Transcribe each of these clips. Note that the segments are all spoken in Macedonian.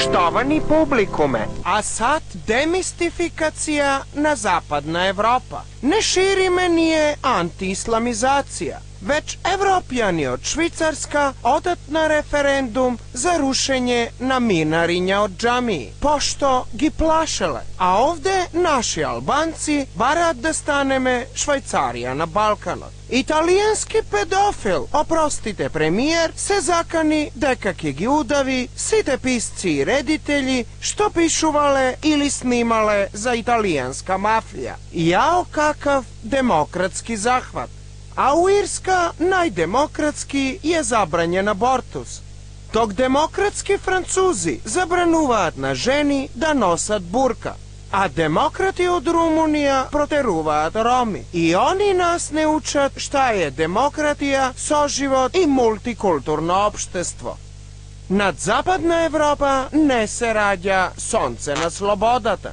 Штовани публикуме, а сад демистификација на Западна Европа. Не шириме ние антиисламизација, веќе европјани од Швицарска одат на референдум за рушење на минариња од џамии, пошто ги плашеле, а овде наши албанци бараат да станеме Швајцарија на Балканот. Италијански педофил, опростите премиер, се закани дека ќе ги удави сите писци и редители што пишувале или снимале за италијанска мафија. Јао какав демократски захват. А у Ирска најдемократски е забрањен абортус. Док демократски французи забрануваат на жени да носат бурка, а демократи од Румунија протеруваат роми. И они нас не учат шта е демократија, соживот и мултикултурно општество. Над Западна Европа не се раѓа сонце на слободата.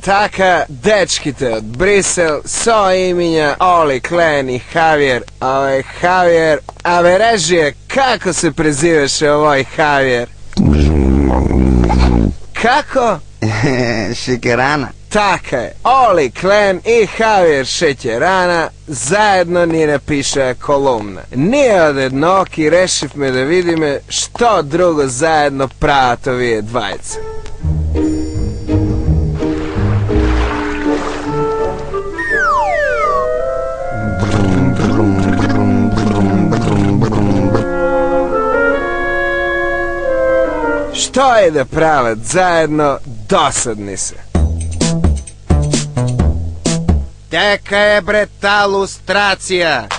Така, дечките од Брисел со имиња Оли, Клен и Хавиер. Овој Хавиер, абе режие, како се презиваше овој Хавиер? Како? Шекерана. Така е, Оли, Клен и Хавиер Шеќерана заедно ни напишаа колумна. Ние од едноки решивме да видиме што друго заедно прават овие двајца. Што е да прават заедно, досадни се. Дека е бре та лустрација.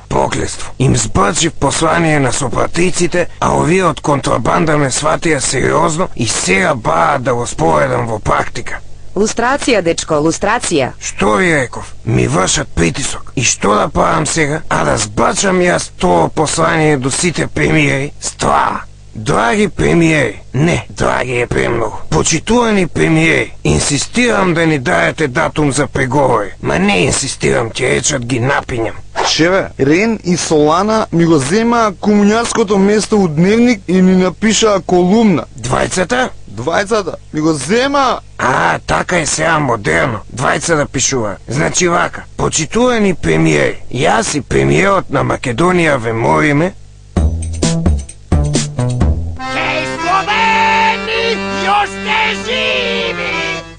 Поклество. Им збачив послание на сопатиците, а овие од контрабанда ме сватија сериозно и сега баат да го споведам во практика. Лустрација, дечко, лустрација. Што ви реков? Ми вршат притисок. И што да правам сега? А да збачам јас тоа послание до сите премиери? Ства! Драги премиери, не, драги е премногу. Почитувани премиери, инсистирам да ни даете датум за преговори. Ма не инсистирам, ќе речат ги напињам. Шеве, Рен и Солана ми го зема комуњарското место у Дневник и ни напишаа колумна. Двајцата? Двајцата ми го зема. А, така е сега модерно. Двајца да пишува. Значи вака, почитувани премиери, јас и премиерот на Македонија ве молиме.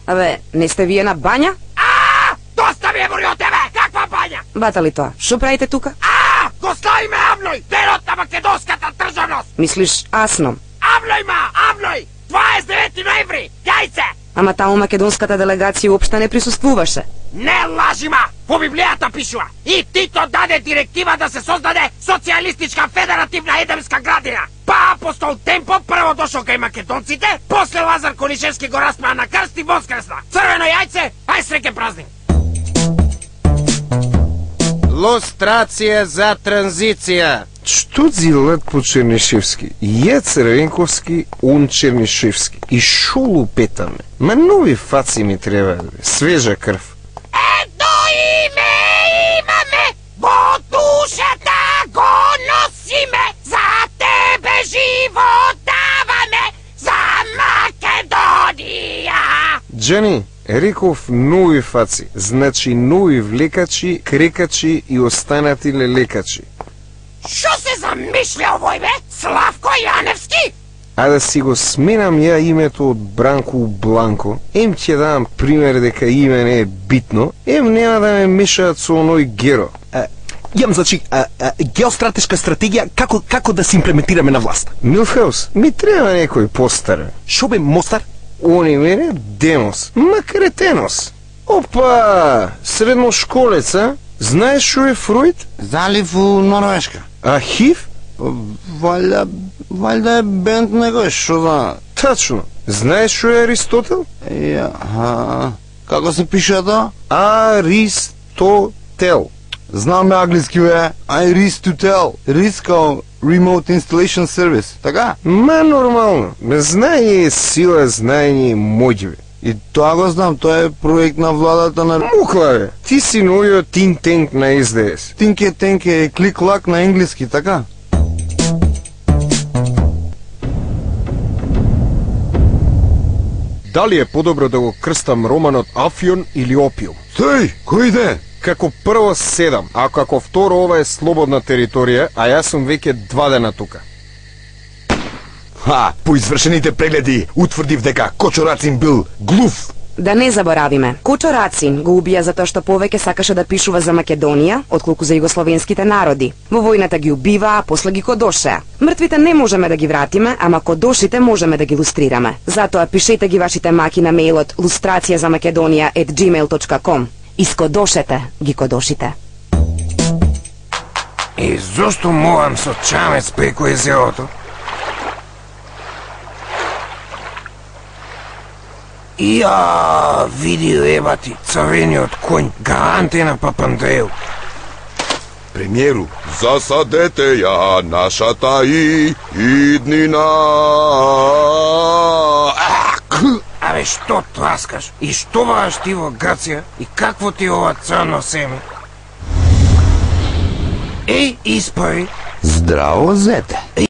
Абе, не сте вие на бања? Доста ми е мори од тебе! Каква бања? Бата ли тоа? Шо правите тука? Го славиме Авној, денот на македонската државност! Мислиш Асном? Авној! 29 ноември! Јајце! Ама таму македонската делегација уопште не присуствуваше. Не лажима! Во Библијата пишува. И Тито даде директива да се создаде социјалистичка федеративна едемска градина. Па апостол Темпо прво дошол кај македонците, после Лазар Конишевски го распаа на крст и воскресна. Црвено јајце, ај среќен празник! Лустрација за транзиција. Што дзилат по Чернишевски? Ја Црвенковски, он Чернишевски. И шо лупетаме? Ма нови фаци ми треба, свежа крв. Едно име имаме, во душата го носиме, за тебе живот даваме, за Македонија. Джани, реков нови фаци, значи нови влекачи, крекачи и останати лелекачи. Шо се замишля овој бе? Славко Јаневски? А да си го сменам ја името од Бранко у Бланко, ем ќе дам пример дека име не е битно, ем нема да ме мешаат со оној Геро. Јам, значи, геостратешка стратегија како да се имплементираме на власт. Милфеус, ми треба некој постар. Шо бе, Мостар? Универе демос, макретенос. Опа, средношколеца, знаеш шо е Фруид? Залив у Норвешка. А Хив? Валјда е бенд него, шо да... Тачно. Знаеш шо е Аристотел? Како се пише тоа? Аристотел. Знам англиски, бе. I risk to tell. Risk као Remote Installation Service, така? Ма нормално. Знаење е сила, знаење е моќ, бе. И тоа го знам, тоа е проект на владата на... Мукла, бе. Ти си новиот think tank на СДС. Тинке тенке е клик-лак на енглиски, така? Дали е подобро да го крстам романот Афион или Опиум? Стој, кој иде? Како прво 7, а како второ ова е слободна територија, а јас сум веќе 2 дена тука. По извршените прегледи утврдив дека Кочо Рацин бил глув. Да не заборавиме, Кочо Рацин го убија затоа што повеќе сакаше да пишува за Македонија, отколку за југословенските народи. Во војната ги убива, а после ги кодошеа. Мртвите не можеме да ги вратиме, ама кодошите можеме да ги лустрираме. Затоа пишете ги вашите маки на мејлот lustraciazamakedonia@gmail.com. Искодошете ги кодошите. И зошто мовам со чамец преку езерото? Види ебати, црвениот конј, гаранте на Папандреју. Премиеру, засадете ја нашата иднина. Абе, што траскаш? И што вараш ти во Грција? И какво ти ова црно семе? Еј, испари. Здраво, зете.